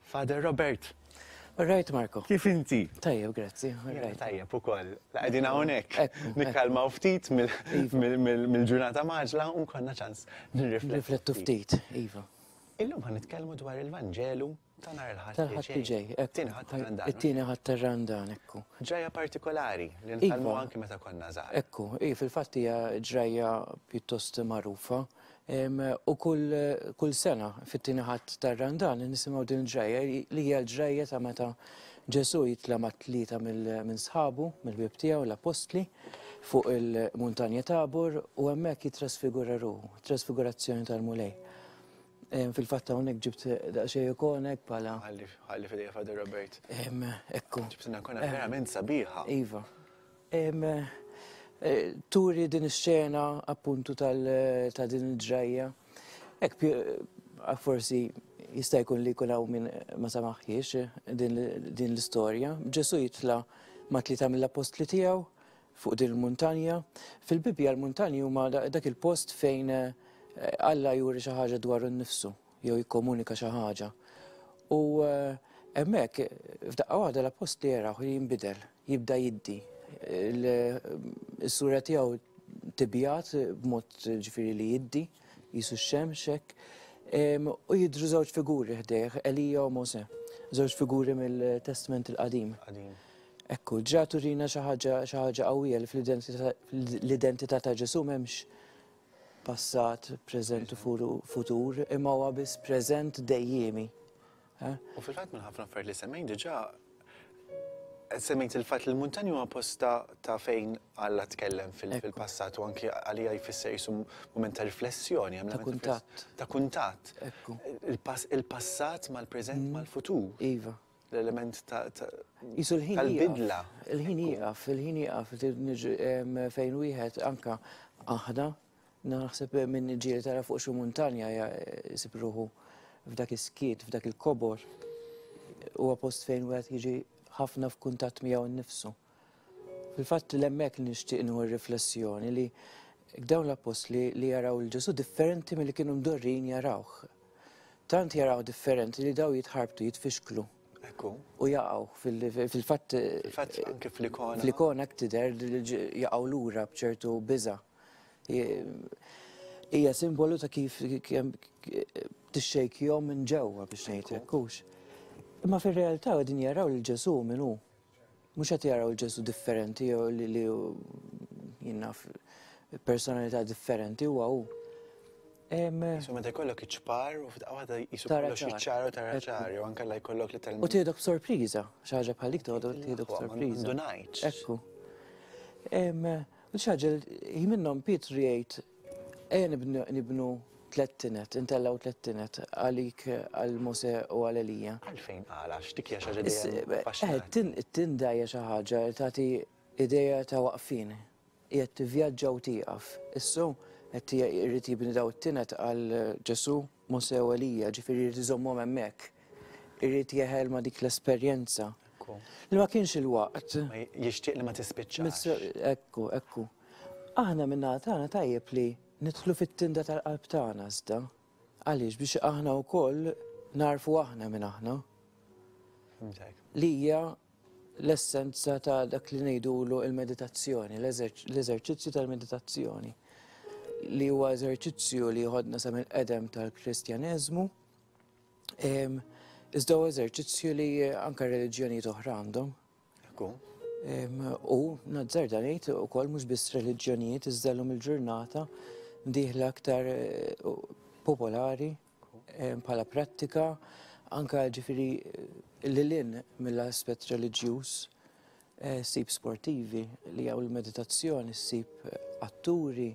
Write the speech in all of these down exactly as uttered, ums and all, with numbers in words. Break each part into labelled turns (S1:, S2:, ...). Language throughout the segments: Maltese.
S1: Father Robert.
S2: All right, Marco.
S1: Kif inti?
S2: Tajjeb, grazzi. All right.
S1: Tajjeb ukoll. La qegħdin hawnhekk. Nikkalmaw ftit mill-ġurnata mgħaġġla u nkollna ċans nirriflettu.
S2: Nirriflettu ftit, iva.
S1: Illum ħa nitkellmu dwar il-Vanġelu ta' nhar il-Ħadd
S2: Tal-Ħadd li ġej.
S1: It-tieni Ħadd tar-Randan.
S2: It-tieni Ħadd tar-Randan, ekku.
S1: Ġrajja partikolari li nitgħallmu anki meta konna żgħar.
S2: Ekku, i fil-fatt hija ġrajja pjuttost magħrufa. U kull, kull sena fit-tieni Ħadd tar-Randan nisimgħu din il-ġrajja li hija l-ġrajja ta' meta Ġesù jitla' ma' tlieta minn sħabu, mill-ħbieb tiegħu, l-appostli, fuq il-muntanja Tabor u hemmhekk jittrasfigura ruħu, trasfigurazzjoni tal-Mulej. Fil-fatt hawnhekk ġibt daqsxejn ikonek bħala.
S1: Ħalli f'idejja Father Robert.
S2: Ekku.
S1: Ġibtilna ikona verament sabiħa.
S2: Iva. Turi din ix-xena appuntu ta' din il-ġrajja. Hekk forsi jista' jkun li jkun hawn min ma samaħħiex din l-istorja. Ġesù jitla' ma' tlieta mill-appostli tiegħu fuq din il-muntanja. Fil-Bibbja l-muntanji huma dak il-post fejn Alla juri xi ħaġa dwaru nnifsu jew jikkomunika xi ħaġa. U hemmhekk f'daqqa waħda l-appostli jaraw li jinbidel, jibda jiddi. Is-sura tiegħu tibjat b'mod ġifieri li jiddi, jisu x-xemx hekk. U jidhru żewġ figuri ħdejh, Elija u Mosè, żewġ figuri mill-Testament il-Qadim. Ekku, ġa turina xi ħaġa xi ħaġa qawwija li fl-identità ta' Ġesù m'hemmx passat, preżent u futur, imma huwa biss preżent dejjiemi.
S1: U fil-fatt minn ħafna affarijiet li semmejt diġà semmejt il-fatt li l-muntanji huwa post ta' fejn Alla tkellem fil-passat u anki għalija jfisser jisu mument ta' riflessjoni.
S2: Ta' kuntatt.
S1: Ta' kuntatt. Il-passat mal-preżent mal-futur.
S2: Iva.
S1: L-element ta'
S2: Jisu l-ħin
S1: tal-bidla.
S2: Il-ħin jieqaf, il-ħin jieqaf fejn wieħed anka aħna naħseb minn ġieli tara fuq xi muntanja jsib ruħu f'dak is-skiet, f'dak il-kobor. Huwa post fejn wieħed jiġi ħafna f'kuntatt miegħu nnifsu. Fil-fatt l-hemmhekk nixtieq nieħu riflessjoni li dawn l-appostli li jaraw il Ġesù differenti milli kienu mdorrin jarawh. Tant jaraw differenti li daw jitħarbtu, jitfixklu.
S1: Ekku.
S2: U jaqgħu fil-fatt.
S1: Fil-fatt anke fl-ikona.
S2: Fl-ikona tidher jaqgħu lura b'ċertu biża'. Hija simbolu ta' kif tixxejkjhom minn ġewwa biex ngħid hekk hux. Imma fir-realtà qegħdin jaraw lil Ġesù min hu. Mhux qed jaraw il Ġesù differenti jew li jien naf personalità differenti huwa hu.
S1: Jisu meta jkollok iċ-ċpar u f'daqqa waħda jisu kollox jiċċara u tara ċar, jew anke la jkollok literalment.
S2: U tieħdok b'sorpriża, xi ħaġa bħal dik tieħdok b'sorpriża.
S1: Ndunajtx.
S2: Ekku. U xi ħaġa hi minnhom Pietru jgħid ejja nibnu tliet tinet, intellgħu tliet tinet għalik għal Mosè u għal Elija.
S1: Għalfejn qal għax dik hija xi ħaġa dejjem affaxxinanti.
S2: It-tinda hija xi ħaġa li tagħti idea ta' waqfien. Qiegħed tivvjaġġa u tieqaf. Issu qed irid jibni daw it-tinet għal Ġesù, Mosè u Elija, ġifieri jrid iżommhom hemmhekk. Irid jeħel ma' dik l-esperjenza. Li ma kienx il-waqt.
S1: Jixtieq li ma tispiċċax.
S2: Ekku, ekku. Aħna min-naħa tagħna tajjeb li nidħlu fit-tinda tal-qalb tagħna iżda. Għaliex biex aħna wkoll narfu aħna minn aħna. Li hija l-essenza ta' dak li ngħidulu il-meditazzjoni, l-eżerċizzju tal-meditazzjoni. Li huwa eżerċizzju li jħodna sa mill-qedem tal-Kristjaneżmu. Iżda huwa eżerċizzju li anke reliġjonijiet oħra għandhom.
S1: Ekku.
S2: U nazzarda ngħid ukoll mhux biss reliġjonijiet iżda llum il-ġurnata dieħla aktar popolari bħala prattika anke ġifieri lil hinn mill-aspett reliġjuż, ssib sportivi li hawn il-meditazzjoni, ssib atturi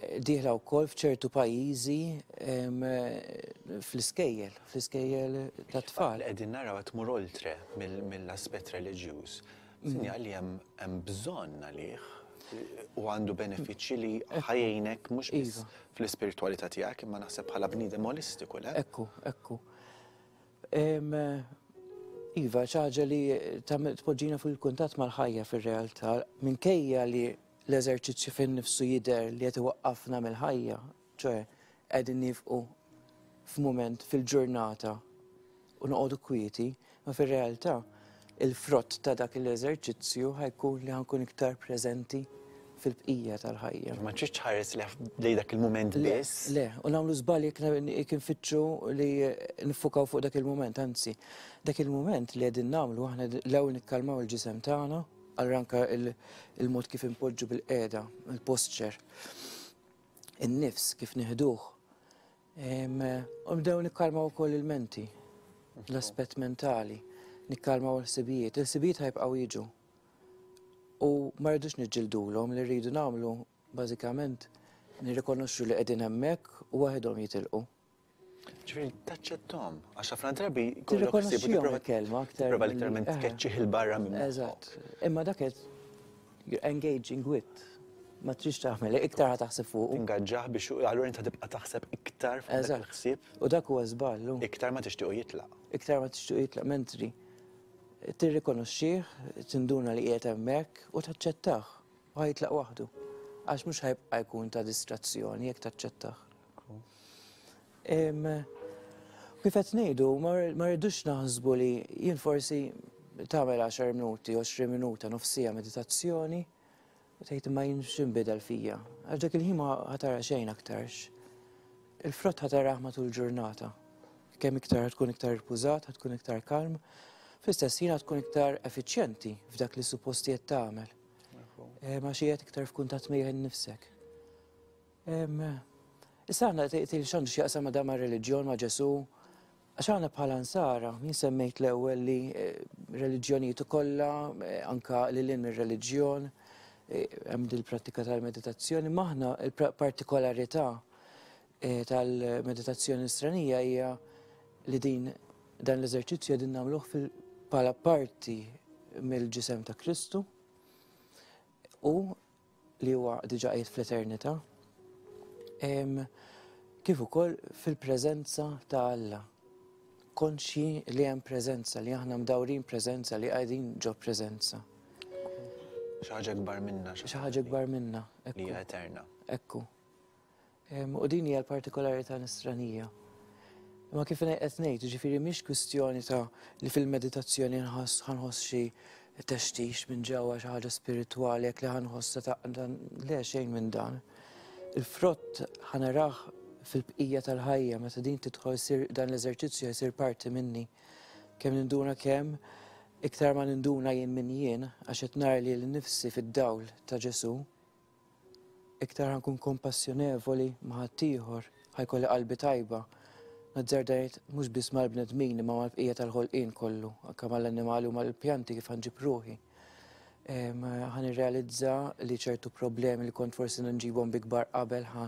S2: dieħla wkoll f'ċertu pajjiżi fl-iskejjel, fl-iskejjel tat-tfal.
S1: Qegħdin naraw qed tmur oltre mill-aspett reliġjuż. Sinjal li hemm bżonn għalih u għandu benefiċċji li ħajjejnek mhux biss fl-ispiritwalità tiegħek imma naħseb bħala bniedem holistiku, le?
S2: Ekku, ekku. Iva, xi ħaġa li tpoġġina fil-kuntatt mal-ħajja fir-realtà, minkejja li l-eżerċizzju fin nifsu jidher li qed iwaqqafna mill-ħajja, ċoe qegħdin nifqu f'mument fil-ġurnata u noqogħdu kwieti, ma fir-realtà il-frott ta' dak l-eżerċizzju ħa jkun li ħa nkun iktar preżenti fil-bqija tal-ħajja.
S1: Ma tridx tħares lejn dak il-mument biss.
S2: Le, u nagħmlu żball jekk nfittxu li nifukaw fuq dak il-mument, anzi, dak il-mument li qegħdin nagħmlu aħna l-ewwel nikkalmaw il-ġisem tagħna, allura anke il-mod kif impoġġu bil-qiegħda, il-posture, in-nifs kif nieħduh. U nibdew nikkalmaw ukoll il-menti, l-aspett mentali, nikkalmaw il-ħsibijiet. Il-ħsibijiet ħa jibqgħu jiġu. U ma rridux niġġildulhom, li rridu nagħmlu bażikament nirrikonoxxu li qegħdin hemmhekk u waħedhom jitilqu.
S1: Ġifieri taċċettom, għax ħafna drabi
S2: Tirrikonoxxihom il-kelma aktar.
S1: Tipprova literalment tkeċċih 'il barra minn
S2: Eżatt. Imma dak qed you're engaging with. Ma tridx tagħmel, iktar ħa taħseb fuq.
S1: Tingaġġah biex allura inta tibqa' taħseb iktar fuq dak il-ħsieb.
S2: U dak huwa żball.
S1: Iktar ma tixtiequ jitlaq.
S2: Iktar ma tixtiequ jitlaq, mentri tirrikonoxxih, tinduna li qiegħed hemmhekk u taċċettah u ħa jitlaq waħdu. Għax mhux ħa jibqa' jkun ta' distrazzjoni jekk taċċettah. Kif qed ngħidu, ma rridux naħsbu li jien forsi tagħmel għaxar minuti, għoxrin minuta, nofs siegħa meditazzjoni, u tgħid ma jien x'inbidel fija. Għax dak il-ħin ma ħa tara xejn aktarx. Il-frott ħa tarah matul ġurnata. Kemm iktar tkun iktar ripużat, tkun iktar kalm, fl-istess ħin tkun iktar effiċjenti f'dak li supposti qed tagħmel. Ma xi qed iktar f'kuntatt miegħek innifsek. Issa aħna tgħid x'għandu x'jaqsam ma' dan mar-reliġjon ma' Ġesù, għax aħna bħala Nsara, jien semmejt l-ewwel li reliġjonijiet kollha, anka lil hinn mir-reliġjon, hemm dil-prattika tal-meditazzjoni, ma aħna il-partikolarità tal-meditazzjoni nisranija hija li din dan l-eżerċizzju qegħdin nagħmluh bħala parti mill-ġisem ta' Kristu u li huwa diġà qiegħed fl-eternità, kif ukoll fil-preżenza ta' Alla. Konxji li hemm preżenza, li aħna mdawrin preżenza, li qegħdin ġo preżenza.
S1: Xi ħaġa kbar minna.
S2: Xi ħaġa kbar minna.
S1: Li hija eterna.
S2: Ekku. U din hija l-partikolarità nisranija. Ma kif qed ngħid, jiġifieri mhix kwistjoni ta' li fil-meditazzjoni ħa nħoss xi textix minn ġewwa, xi ħaġa spiritwali, jekk li ħa nħossha ta' le, xejn minn dan. Il-frott ħa narah fil-bqija tal-ħajja, meta din tidħol sir dan l-eżerċizzju jsir parti minni. Kemm ninduna kemm, iktar ma ninduna jien min jien, għax qed nara lili nnifsi fid-dawl ta' Ġesù, iktar ħa nkun kompassjonevoli ma' ħaddieħor, ħa jkolli qalbi tajba. Nazzarda ngħid mhux biss mal-bnedmin imma mal-bqija tal-ħolqien kollu, anke mal-annimali u mal-pjanti kif ħa nġib ruħi. Ħa nirrealizza li ċertu problemi li kont forsi nġibhom bi kbar qabel ħa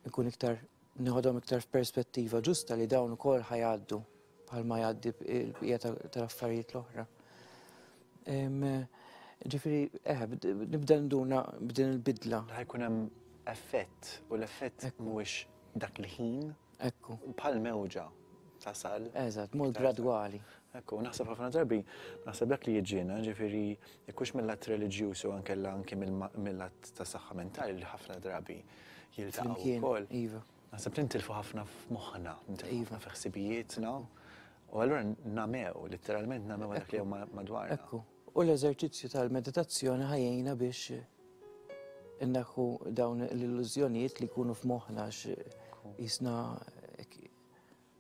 S2: nkun iktar nieħodhom iktar f'perspettiva ġusta li dawn ukoll ħa jgħaddu bħalma jgħaddi l-bqija tal-affarijiet l-oħra. Ġifieri, eh, nibda nduna b'din il-bidla.
S1: Ħa jkun hemm effett u l-effett mhuwiex dak il-ħin.
S2: Ekku.
S1: Bħal mewġa tasal.
S2: Eżatt, mod gradwali.
S1: Ekku, naħseb ħafna drabi, naħseb dak li jiġina, ġifieri, jekkux mill-lat reliġjuż u ankella anke mill-lat ta' saħħa mentali li ħafna drabi jiltaqgħu wkoll.
S2: Iva.
S1: Naħseb li ntilfu ħafna f'moħħna, ntilfu ħafna f'ħsibijietna. U allura namew, literalment namew dak li huma madwarna.
S2: Ekku. U l-eżerċizzju tal-meditazzjoni ħa jgħinna biex inneħħu dawn l-illużjonijiet li jkunu f'moħħna għax jisna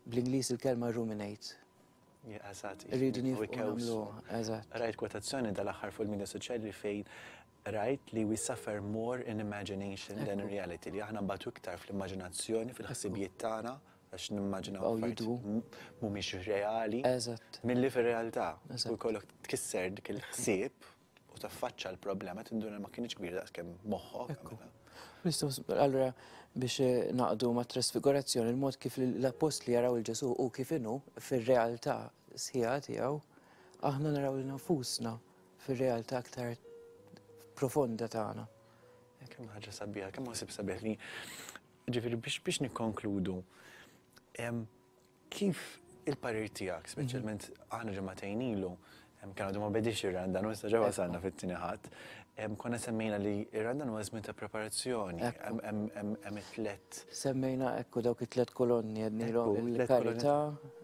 S2: bl-Ingliż il-kelma ruminate.
S1: Eżatt.
S2: Irridu nifqu nagħmlu, eżatt.
S1: Rajt kwotazzjoni dal-aħħar fuq il-media soċjali fejn rajt li we suffer more in imagination than in reality, li aħna nbatu iktar fl-immaġinazzjoni, fil-ħsibijiet tagħna, għax nimmaġinaw affarijiet mhumiex reali milli fir-realtà. U jkollok tkisser dik il-ħsieb u taffaċċa l-problema tinduna ma kienx kbir daqskemm moħħok.
S2: Allura biex naqdu ma' trasfigurazzjoni, il-mod kif l-appostli jaraw il-Ġesù u kif inhu fir-realtà sħiħa tiegħu, aħna naraw lil nfusna fir-realtà aktar profonda tagħna.
S1: Kemm ħaġa sabiħa, kemm ħsieb sabiħ li ġifieri biex biex nikkonkludu, kif il-parir tiegħek, speċjalment aħna ġimagħtejn ilu, Kien għadu ma bedix ir-Randan, u issa ġa wasalna fit-tieni Ħadd. Konna semmejna li ir-Randan huwa żmien ta' preparazzjoni, hemm it-tlet.
S2: Semmejna ekku dawk it-tlet kolonni għednilhom il-karità.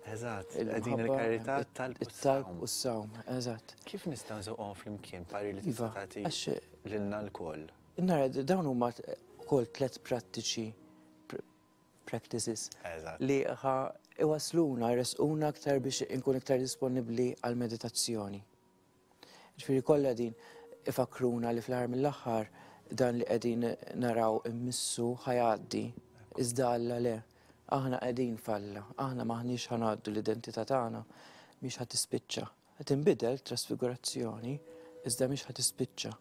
S1: Eżatt, qegħdin il-karità, talb
S2: u s-sawm. Eżatt.
S1: Kif nistgħu nżewqhom flimkien, pari li tista' tagħti lilna lkoll?
S2: Nara, dawn huma wkoll tliet prattiċi, practices li ħa iwasluna, jresquna aktar biex inkun iktar disponibbli għal meditazzjoni. Ġifieri kollha din ifakruna li fl-aħħar mill-aħħar dan li qegħdin naraw immissu ħa jgħaddi, iżda Alla le. Aħna qegħdin f'Alla, aħna m'aħniex ħa ngħaddu, l-identità tagħna mhix ħa tispiċċa. Qed tinbidel trasfigurazzjoni, iżda mhix ħa tispiċċa.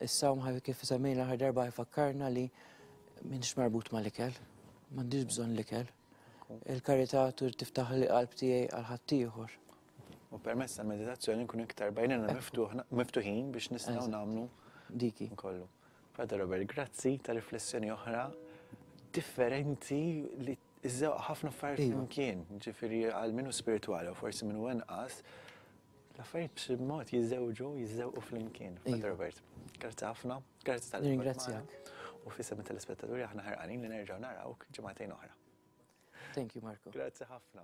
S2: Is-sawm, kif semmejna l-aħħar darba, jfakkarna li m'inix marbut mal-ikel, m'għandix bżonn l-ikel. Il-karità tur tiftaħ il-qalb tiegħi għal ħaddieħor.
S1: U permezz tal-meditazzjoni nkunu iktar bajnina miftuħin biex nistgħu nagħmlu
S2: diki.
S1: Kollu. Father Robert, grazzi ta' riflessjoni oħra differenti li iżżewq ħafna affarijiet flimkien, ġifieri għal min hu spiritwali u forsi min hu inqas, l-affarijiet b'xi mod jiżżewġu, jiżżewqu flimkien. Father Robert, grazzi ħafna, grazzi tal
S2: Ringrazzjak.
S1: U f'isem it-telespettaturi aħna ħerqanin li nerġgħu narawk ġimagħtejn oħra.
S2: Thank you, Marco.
S1: Grazzi ħafna.